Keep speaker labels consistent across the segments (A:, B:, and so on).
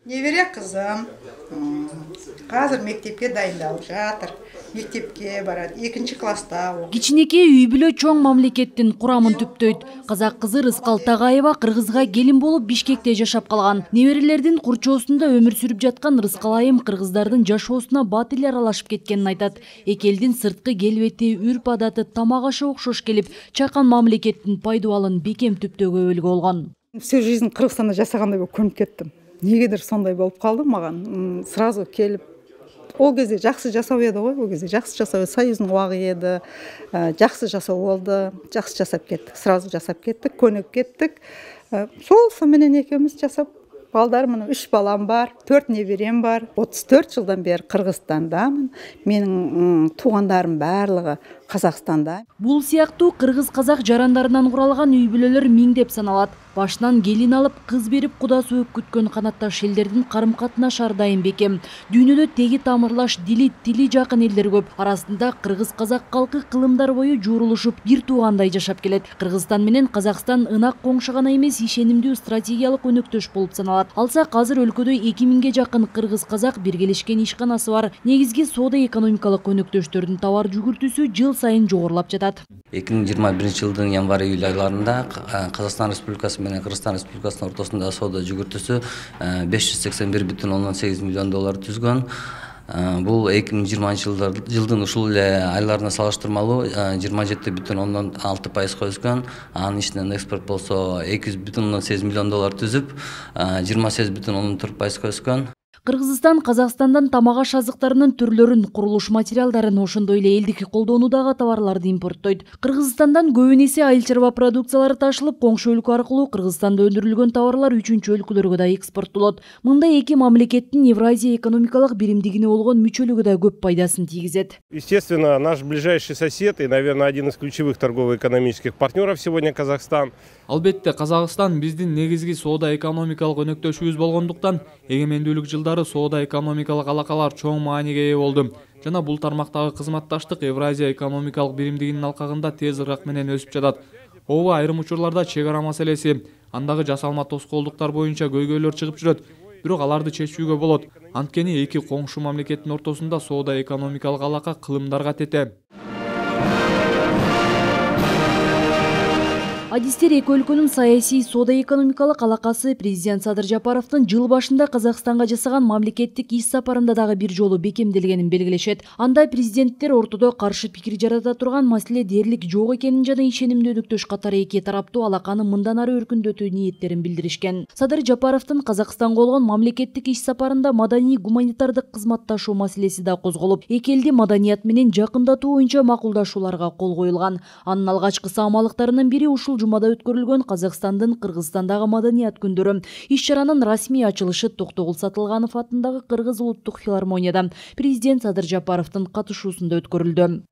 A: Небере кызым азыр мектепке дайындалып жатыр. Мектепке барат, 2-класста.
B: Кичинекей үй бүлө чоң мамлекеттин курамын түптөйт. Казак кызы Рыскал Тагаева кыргызга келин болуп Бишкекте жашап калган. Неберелердин курчоосунда өмүр сүрүп жаткан Рыскал айым кыргыздардын жашоосуна бат эле аралашып кеткенин айтат. Эки элдин сырткы келбети, үрп адаты, тамак ашы окшош келип, чакан мамлекеттин пайдубалын бекем түптөөгө өлгө болгон.
C: Всю жизнь Кыргызстанда жашагандай болуп көрүнүп кеттим. Негедир сондай болуп калды маган. Сразу келип, ол кезде жакшы жасап эди го, ол кезде жакшы жасап, союздун убагы эди. Жакшы жасоо болду, жакшы жасап кеттик. Сразу жасап кеттик, көнүп кеттик. Сол менен экөөбүз жасап, балдар мына 3 балам бар, 4 неберем бар. 34 жылдан бери Кыргызстандамын. Менин туугандарым баардыгы Казакстанда.
B: Бул сыяктуу кыргыз-казак жарандарынан куралган үй бүлөлөр миңдеп саналат. Башынан келин алып, кыз берип куда сөөп күткөн канатташ элдердин карым-катнаш ар дайым бекем. Дүйнөдө теги тамырлаш, тили жакын элдер көп. Арасында кыргыз-казак калкы кылымдар бою жуурулушуп, бир туугандай жашап келет. Кыргызстан менен Казакстан ынак коңшу гана эмес, ишенимдүү стратегиялык өнөктөш болуп саналат. Алсак азыр өлкөдө 2000ге жакын кыргыз-казак биргелешкен ишканасы бар. Негизги соода-экономикалык өнөктөштөрдүн товар жүгүртүүсү жыл сайын жогорулап жатат.
D: 2021 жылдын январь-июль айларында Казакстан Республикасы менен Кыргызстан Республикасынын ортосунда соода жүгүртүүсү 581,8 миллион доллар түзгөн. Бул 2020 жылдын ушул эле айларына салыштырмалуу 27,6% өскөн. Анын ичинен экспорт болсо 200,8 миллион доллар түзүп, 28,4% өскөн.
B: Кыргызстан Казакстандан тамак аш азыктарынын түрлөрүн, курулуш материалдарын, ошондой эле элдик колдонуудагы товарларды импорттойт. Кыргызстандан көбүн эсе айыл чарба продукциялары ташылып, коңшу өлкө аркылуу Кыргызстанда өндүрүлгөн товарлар 3-чү өлкөлөргө да экспорттолот. Мында эки мамлекеттин Евразия экономикалык биримдигине болгон мүчөлүгү да көп пайдасын тийгизет.
E: Естественно, наш ближайший сосед и, наверное, один из ключевых торгово-экономических партнеров сегодня Казахстан.
F: Албетте, Казакстан биздин негизги соода-экономикалык өнөктөшүбүз болгондуктан, эгемендүүлүк жылдары соода-экономикалык алакалар чоң мааниге ээ болду. Жана бул тармактагы кызматташтык Евразия экономикалык биримдигинин алкагында тез ыргак менен өсүп жатат. Ооба, айрым учурларда чек ара маселеси, андагы жасалма тоскоолдуктар боюнча көйгөйлөр чыгып жүрөт. Бирок аларды чечүүгө болот. Анткени эки коңшу мамлекеттин ортосунда соода-экономикалык алака кылымдарга тете.
B: Адистер эки өлкөнүн саясий соода-экономикалык алакасы президент Садыр Жапаровдун жыл башында Казакстанга жасаган мамлекеттик иш сапарында дагы бир жолу бекемделгенин белгилешет. Анда президенттер ортодо каршы пикир жарата турган маселе дээрлик жок экенин жана ишенимдүү өнөктөш катары эки тараптуу алаканы мындан ары өркүндөтүү ниеттерин билдиришкен. Садыр Жапаровдун Казакстанга болгон мамлекеттик иш сапарында маданий гуманитардык кызматташуу маселеси да козголуп, эки элди маданият менен жакындатуу боюнча макулдашууларга кол коюлган. Анын алгачкы саамалыктарынын бири ушул жумада өткөрүлгөн Казакстандын Кыргызстандагы маданият күндөрү. Иш-чаранын расмий ачылышы Токтогул Сатылганов атындагы Кыргыз улуттук филармонияда президент Садыр Жапаровдун катышуусунда өткөрүлдү.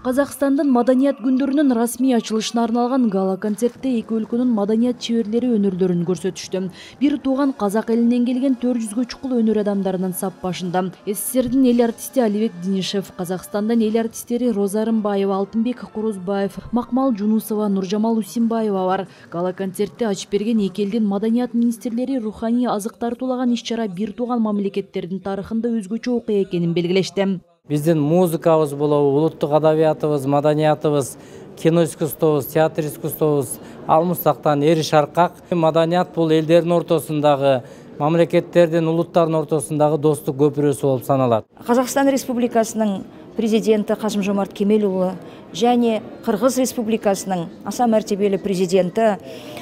B: Казакстандын маданият күндөрүнүн расмий ачылышына арналган гала-концертте эки өлкөнүн маданият чеберлери өнөрлөрүн көрсөтүштү. Бир тууган казак элинен келген 400гө чукул өнөр адамдарынын сап башында. СССРдин эл артисти Алибек Динишев, Казакстандан эл артисттери Роза Рымбаева, Алтынбек Курузбаев, Макмал Жунусова, Нуржамал Усимбаева бар. Гала-концертте ачып берген эки элдин маданият министрлери руханий азык тартуулаган иш-чара бир тууган мамлекеттердин тарыхында өзгөчө окуя экенин белгилешти.
G: Биздин музыкабыз болобу, улуттук адабиятыбыз, маданиятыбыз, кино искусствобуз, театр искусствобуз алмыстактан эри шаркак. Маданият бул элдердин ортосундагы, мамлекеттердин, улуттардын ортосундагы достук көпүрөсү болуп саналат.
H: Казакстан Республикасынын президенти Касым-Жомарт Кемелұлы және Кыргыз Республикасынын аса мәртебелі президенти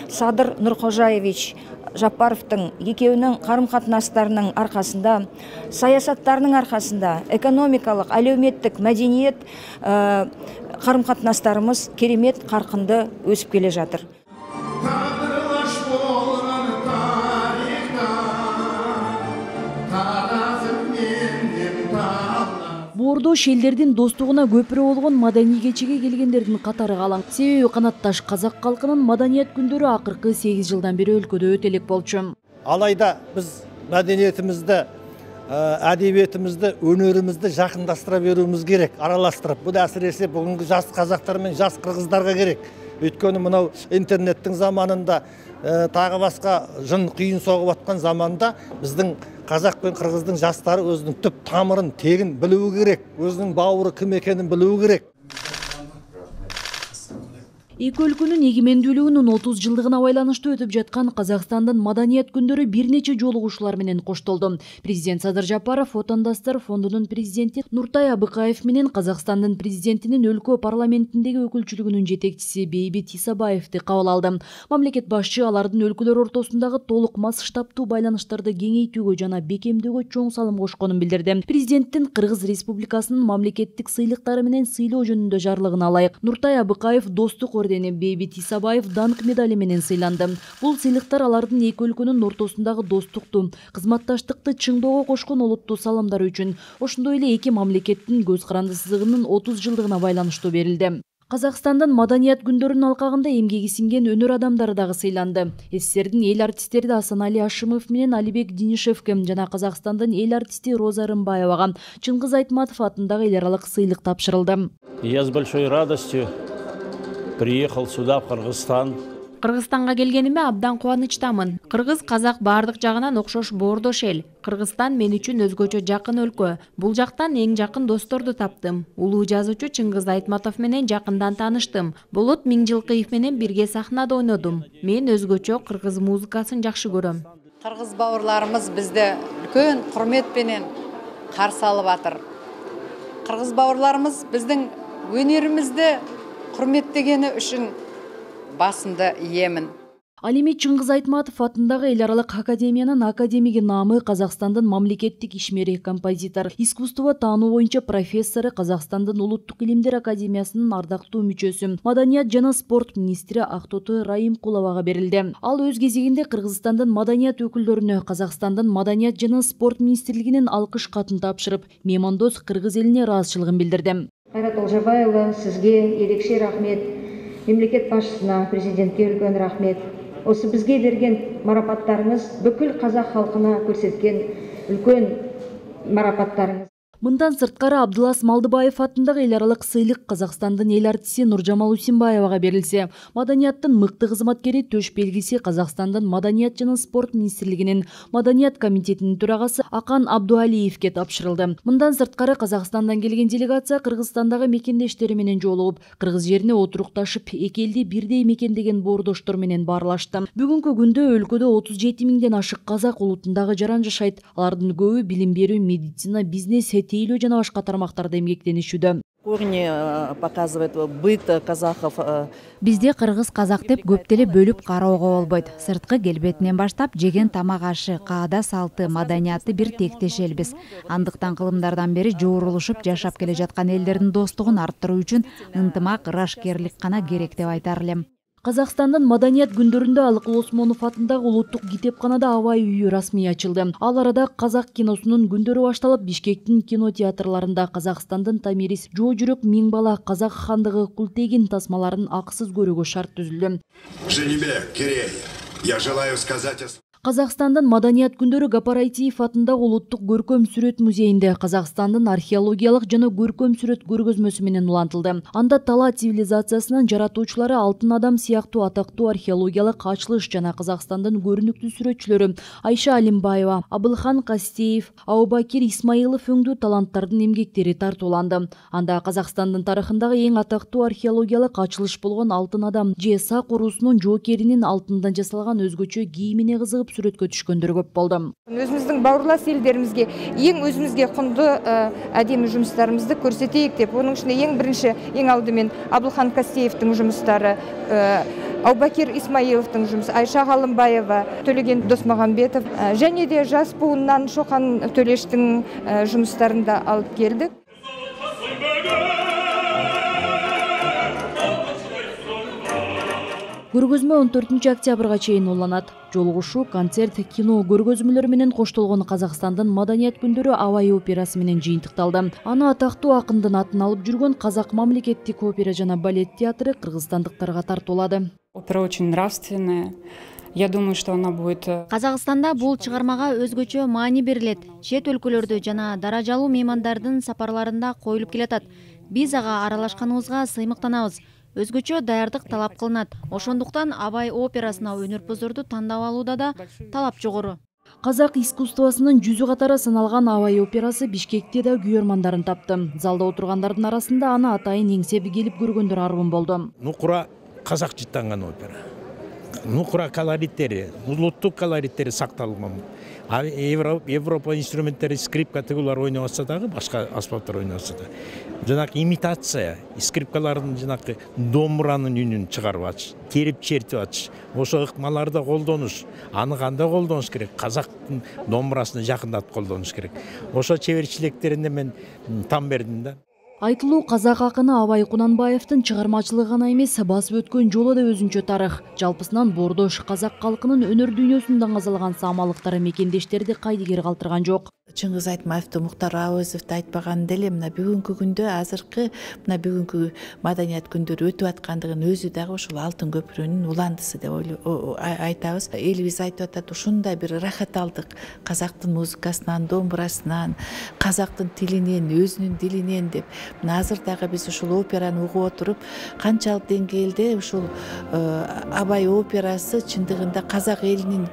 H: Садыр Нуркожаевич Жапаровдун экөөнүн карым-катнастарынын аркасында, саясаттарынын аркасында экономикалык, әлеуметтик, мәдениет карым-катнастарыбыз керемет каркынды өсүп келе жатыр.
B: Бордо шелдердин достугуна көпүрө болгон маданий кечеге келгендердин катары калаң. Себеби канатташ казак калкынын маданият күндөрү акыркы 8 жылдан бери өлкөдө өтө элек болчу.
I: Алайда биз маданиятыбызды әдебиетімізді, өнерімізді жақындаштыра беруіміз керек, араластырып. Бұл әсіресе бүгінгі жас қазақтар мен жас қырғыздарға керек. Өйткені мынау интернеттің заманында, тағы басқа жын қиын соғып атқан заманда біздің қазақ пен қырғыздың жастары өзінің түп тамырын, тегін білуі керек, өзінің бауыры кім екенін білуі керек.
B: Эки өлкөнүн эгемендүүлүгүнүн 30 жылдыгына байланыштуу өтүп жаткан Казакстандын маданият күндөрү бир нече жолугушуулар менен коштолду. Президент Садыр Жапаров Отандастар фондунун президенти Нуртай Абыкаев менен Казакстандын президентинин өлкө парламентиндеги өкүлчүлүгүнүн жетекчиси Бейбит Исабаевди кабыл алды. Мамлекет башчы алардын өлкөлөр ортосундагы толук масштабтуу байланыштарды кеңейтүүгө жана бекемдөөгө чоң салым кошконун билдирди. Президенттин Кыргыз Республикасынын мамлекеттик сыйлыктары менен сыйлоо жөнүндө жарлыгына ылайык Нуртай Абыкаев достук Бейбит Исабаев данк медали менен сыйланды. Бул сыйлыктар алардын эки өлкөнүн ортосундагы достукту, кызматташтыкты чыңдоого кошкон олуттуу саламдары үчүн, ошондой эле эки мамлекеттин көз карандысыздыгынын 30 жылдыгына байланыштуу берилди. Казакстандын маданият күндөрүнүн алкагында эмгеги сиңген өнөр адамдары дагы сыйланды. СССРдин эл артистери Асанали Ашимов менен Алибек Динишевке жана Казакстандын эл артисти Роза Рымбаевага Чыңгыз Айтматов атындагы эл аралык сыйлык тапшырылды.
J: Я с большой радостью приехал сюда, в Кыргызстан.
K: Кыргызстанга келгениме абдан кубанычтамын. Кыргыз казак бардык жагынан окшош боордош эл. Кыргызстан мен үчүн өзгөчө жакын өлкө. Бул жактан эң жакын досторду таптым. Улуу жазуучу Чыңгыз Айтматов менен жакындан тааныштым. Болот Миңжилкыев менен бирге сахнада ойнодум. Мен өзгөчө кыргыз музыкасын жакшы көрөм.
L: Кыргыз бауырларымыз бизди үлкөн курмет менен каршы алып атыр. Кыргыз бауырларымыз биздин өнөрүбүздү құрметтегені үшін басымды иемін.
B: Ал эми Чыңгыз Айтматов атындагы эл аралык академиянын академиги наамы Казакстандын мамлекеттик ишмери, композитор, искусство таануу боюнча профессору, Казакстандын улуттук илимдер академиясынын ардактуу мүчөсү, маданият жана спорт министри Актоту Раимкуловага берилди. Ал өз кезегинде Кыргызстандын маданият өкүлдөрүнө Казакстандын маданият жана спорт министрлигинин алкыш катын тапшырып, меймандос кыргыз элине ыраазычылыгын билдирди.
H: Кайрат Олжабаева, сизге ерекше рахмет. Мемлекет башчысына, президентке үлкен рахмет. Осы бізге берген марапаттарыңыз бүкіл қазақ халқына көрсеткен үлкен марапаттарыңыз.
B: Мындан сырткары Абдылас Малдыбаев атындагы эл аралык сыйлык Казакстандын эл артисти Нуржамал Усимбаевага берилсе, маданияттын мыкты кызматкери төш белгиси Казакстандын маданият жана спорт министрлигинин маданият комитетинин төрагасы Акан Абдуалиевке тапшырылды. Мындан сырткары Казакстандан келген делегация Кыргызстандагы мекендештери менен жолугуп, кыргыз жерине отурукташып, эки элди бирдей мекендеген боордоштор менен баарлашты. Бүгүнкү күндө өлкөдө 37 миңден ашык казак улутундагы жаран жашайт. Алардын көбү билим берүү, медицина, бизнес, тейлөө жана башка тармактарда эмгектенишүүдө.
M: Корни показывает быт казахов.
N: Бизде кыргыз казак деп көп деле бөлүп кароого болбойт. Сырткы келбетинен баштап жеген тамак ашы, каада салты, маданияты бир тектеш элбиз. Андыктан кылымдардан бери жоорулушуп жашап келе жаткан элдердин достугун арттыруу үчүн ынтымак, ырашкерлик гана керек деп айтар элем.
B: Казакстандын маданият күндөрүндө Алыкул Осмонов атындагы улуттук китепканада Абай үйү расмий ачылды. Ал арада казак киносунун күндөрү башталып, Бишкектин кинотеатрларында Казакстандын Тамирис, Жоо жүрөк миң бала, Казак хандыгы, Култегин тасмаларын акысыз көрүүгө шарт түзүлдү.
O: Женебек, Кирей, я желаю сказать...
B: Казакстандын маданият күндөрү Гапар Айтиев атындагы улуттук көркөм сүрөт музейинде Казакстандын археологиялык жана көркөм сүрөт көргөзмөсү менен улантылды. Анда Тала цивилизациясынын жаратуучулары Алтын адам сыяктуу атактуу археологиялык ачылыш жана Казакстандын көрүнүктүү сүрөтчүлөрү Айша Алимбаева, Абылхан Кастеев, Абубакир Исмаилов өңдүү таланттардын эмгектери тартууланды. Анда Казакстандын тарыхындагы эң атактуу археологиялык ачылыш болгон Алтын адам же Сак урусунун жоокеринин алтындан жасалган өзгөчө кийимине кызыгып сүрөткө түшкөндөр көп болду.
P: Өзүбүздүн бауырлас элдеримизге эң өзүбүзгө коңду адеми жумуштарыбызды көрсөтөйүк деп, онун ичинде эң биринчи, эң алдымен Абылхан Кастеевдин жумуштары, Абубакир Исмаиловдун жумушу, Айша Алимбаева, Төлеген Досмагамбетов және де жас буыннан Шоқан Төлештин жумуштарын да алып келдик.
B: Көргөзмө 14 октябрга чейин уланат. Жолугушуу, концерт, кино көргөзмөлөр менен коштолгон Казакстандын маданият күндөрү Абай операсы менен жыйынтыкталды. Аны атактуу акындын атын алып жүргөн Казак мамлекеттик опера жана балет театры кыргызстандыктарга тартуулады.
Q: Опера очень нравственная, Я думаю, что она будет...
N: Казакстанда бул чыгармага өзгөчө маани берилет. Чет өлкөлөрдө жана даражалуу меймандардын сапарларында коюлуп келатат. Биз ага аралашканыбызга сыймыктанабыз. Өзгөчө даярдык талап кылынат. Ошондуктан Абай операсына өнөрпөздөрдү тандап алууда да талап жогору.
B: Казак искусствосунун жүзү катары саналган Абай операсы Бишкекте да күйөрмандарын тапты. Залда отургандардын арасында аны атайын эңсеп келип көргөндөр арбын болду.
J: Нукура казак жыттанган опера. Нукура колориттери, улуттук колориттери сакталган. Европа инструменттери, скрипка тигулар ойноп атса дагы, башка аспаптар ойноп атса да. Жанакы имитация, скрипкалардын жанакы домбуранын үнүн чыгарып атыш, терип чертип атыш. Ошо ыкмаларды колдонуш, аны кандай колдонуш керек? Казактын домбурасына жакындатып колдонуш керек. Ошо чеберчилектерине мен там бердим да.
B: Айтылуу казак акыны Абай Кунанбаевдин чыгармачылыгы гана эмес, басып өткөн жолу да өзүнчө тарых. Жалпысынан Бордош казак калкынын өнөр дүйнөсүн даңазалган самалыктары мекендештерди кайдыгер калтырган жок.
R: Чыңгыз Айтматовду, Муктар Абазовду айтпаган деле мына бүгүнкү күндө азыркы мына бүгүнкү маданият күндөрү өтүп аткандыгын өзү дагы ушул Алтын көпүрөнүн уландысы деп айтабыз. Элибиз айтып атат, ушундай бир рахат алдык казактын музыкасынан, домбурасынан, казактын тилинен, өзүнүн дилинен деп. Мына азыр дагы биз ушул операны угуп отуруп, канчалык деңгээлде ушул Абай операсы чындыгында казак элинин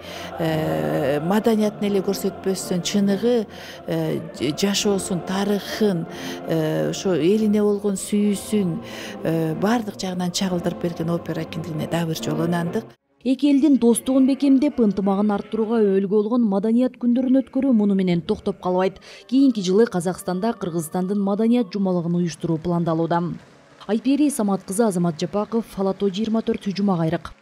R: маданиятын эле көрсөтпөстөн чыныгы жашоосун, тарыхын, ошо элине болгон сүйүүсүн баардык жагынан чагылдырып берген опера экендигине дагы бир жолу ынандык.
B: Эки элдин достугун бекемдеп, ынтымагын арттырууга өбөлгө болгон маданият күндөрүн өткөрүү муну менен токтоп калбайт. Кийинки жылы Казакстанда Кыргызстандын маданият жумалыгын уюштуруу пландалууда. Айпери Самат кызы, Азамат Жапаков, Фалато 24, Жума Кайрык.